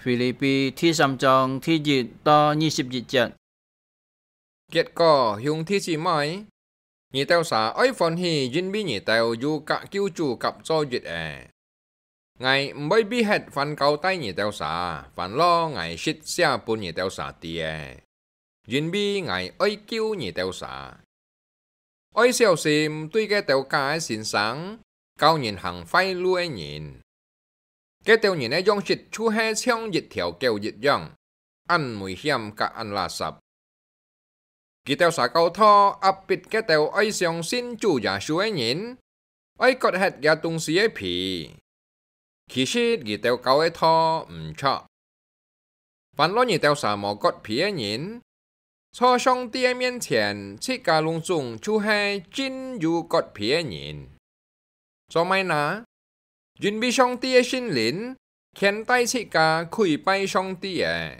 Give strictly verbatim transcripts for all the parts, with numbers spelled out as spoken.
腓立比第三章第一到二十一節。結果，兄弟姊妹，你兜儕愛歡喜，因為你兜有甲救主甲做一个。 𠊎毋會避忒凡交代你兜儕，凡落𠊎實寫分你兜儕知个，因為𠊎愛救你兜儕。愛小心對該兜假个先生，教人行壞路个人。該兜人个樣式就係像一條狗一樣，恁危險甲恁垃圾。佢兜儕教導、壓迫該兜愛相信主耶穌个人，愛割忒這東西个皮。其實佢兜教个道毋著。凡落你兜儕無割皮个人，在上帝个面前，自家攏總就係真有割皮个人。 做麼个呢？因為上帝个聖靈牽帶自家跪拜上帝个，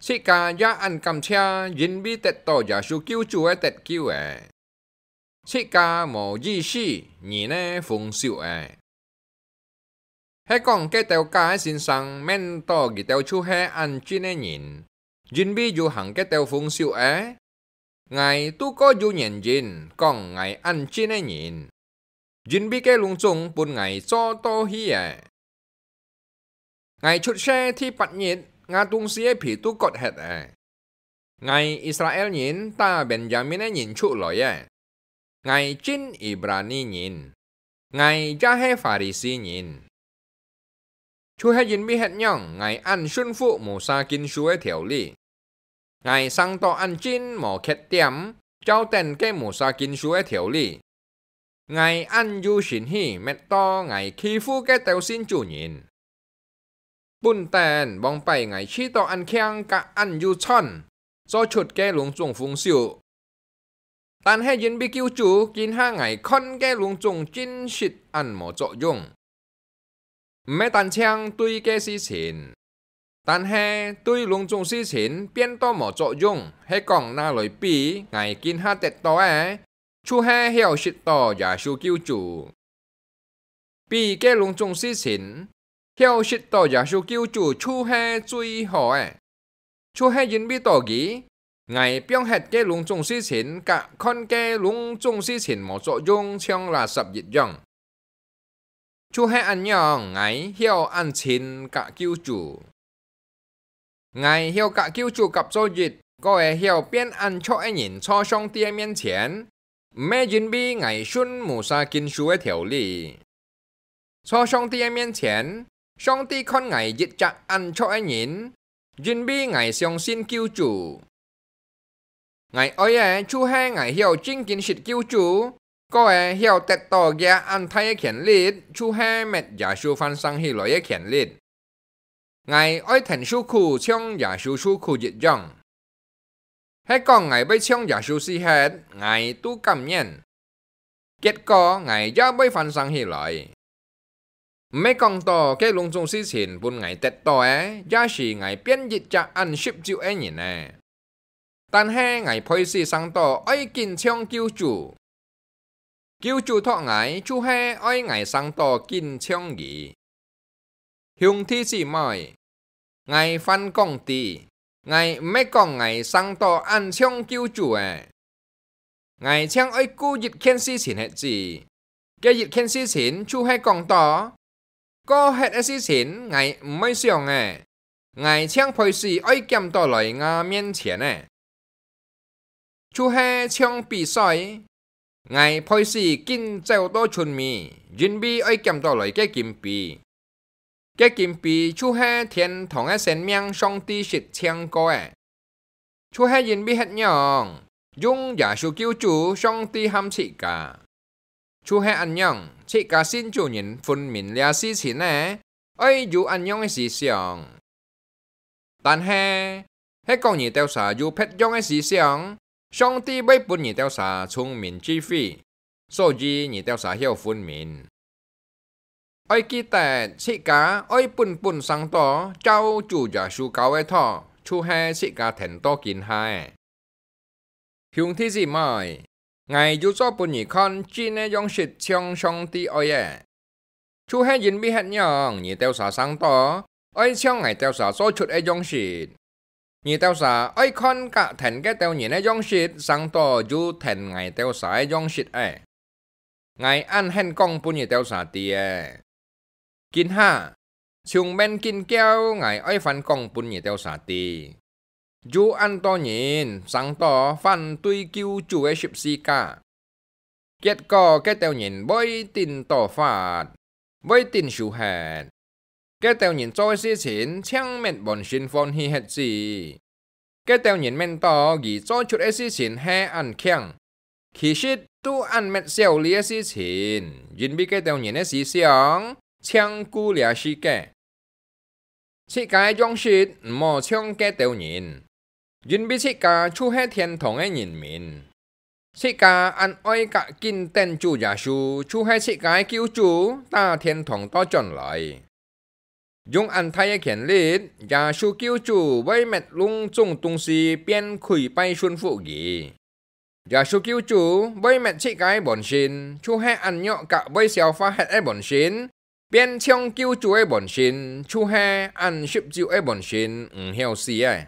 自家也恁感謝，因為得到耶穌救主个得救个，自家無意思，人呢封鎖个。係講該兜假个先生，面到佢兜就係恁真个人， 因為有行該兜封鎖个，𠊎都過有原因講𠊎恁真个人，因為該攏總分𠊎做到去个。𠊎出世第八日，吾東西个皮都割忒个。𠊎以色列人打便雅憫个人出來个，𠊎真以色列人，𠊎也係法利賽人。 就係因為係恁樣，𠊎恁順服Moses經書个條例。𠊎生到恁真無缺點，照等該Moses經書个條例。𠊎恁有誠意，搣到𠊎欺負該兜信主人。本等往擺𠊎試著恁慶甲恁有賺，做出該攏總豐收。 但係因為救主，今下𠊎看該攏總真實恁無作用。毋係單淨對該事情，但係對攏總事情變到無作用，係講拿來比𠊎今下得到个，就係曉識到耶穌救主。 比該攏總事情，曉識到耶穌救主就係最好个。就係因為到佢，𠊎放忒該攏總事情，甲看該攏總事情無作用，像垃圾一樣。就係恁樣，𠊎曉恁親甲救主。 𠊎曉甲救主甲做一，過會曉變恁著个人在上帝个面前，毋係因為𠊎順Moses經書个條例。在上帝个面前，上帝看𠊎一隻恁著个人，因為𠊎相信救主。 𠊎愛个就係𠊎曉真經識救主，過會曉得到佢恁大个權力，就係搣耶穌翻生起來个權力。𠊎愛跈受苦，像耶穌受苦一樣。係講𠊎會像耶穌死忒，𠊎都甘願。結果𠊎也會翻生起來。 毋係講到該攏總事情分𠊎得到个，也使𠊎變一隻恁十足个人呢。但係𠊎配死生到愛緊像救主。救主託𠊎，就係愛𠊎生到緊像佢。兄弟姊妹， 𠊎還講知，𠊎毋係講𠊎生到恁像救主个。𠊎淨愛顧一件事情係知，該一件事情就係講到，過忒个事情𠊎毋會想个，𠊎淨配死愛撿到來吾面前个。 就係像比賽，𠊎配死緊走到賰尾，因為愛撿到來个金杯。該金杯就係天堂个生命，上帝識淨過个。就係因為係恁樣，用耶穌救主，上帝喊自家。 就係恁樣，自家信主人分明這事情呢，愛有恁樣个思想。但係，係講你兜儕有別樣个思想，上帝會分你兜儕聰明智慧，所以你兜儕曉分明。愛記得，自家愛本本生到照主耶穌教个道，就係自家跈到今下个。 兄弟姊妹，𠊎有做分你看真个樣式像上帝愛个。就係因為係恁樣，你兜儕生到，愛像𠊎兜儕做出个樣式。你兜儕愛看較𢯭該兜人个樣式，成到有𢯭𠊎兜儕个樣式仔。𠊎恁肯講分你兜儕知个。今下，從明今朝𠊎愛還講分你兜儕知，有恁多人成到反對救主个十字架。結果該兜人會頂倒發，會頂手核。該兜人做个事情淨搣滿心歡喜核子。該兜人搣到佢做出个事情係恁慶，其實都恁搣小利个事情，因為該兜人个思想淨顧這世界。自家个樣式毋好像該兜人，因為自家就係天堂个人民。自家恁愛較緊等主耶穌，就係自家个救主打天堂倒轉來。用恁大个權力，耶穌救主會搣攏總東西變跪拜順服佢。耶穌救主會搣自家个本性，就係恁弱甲會消化核个本性，變像救主个本性，就係恁十足个本性，毋曉死个。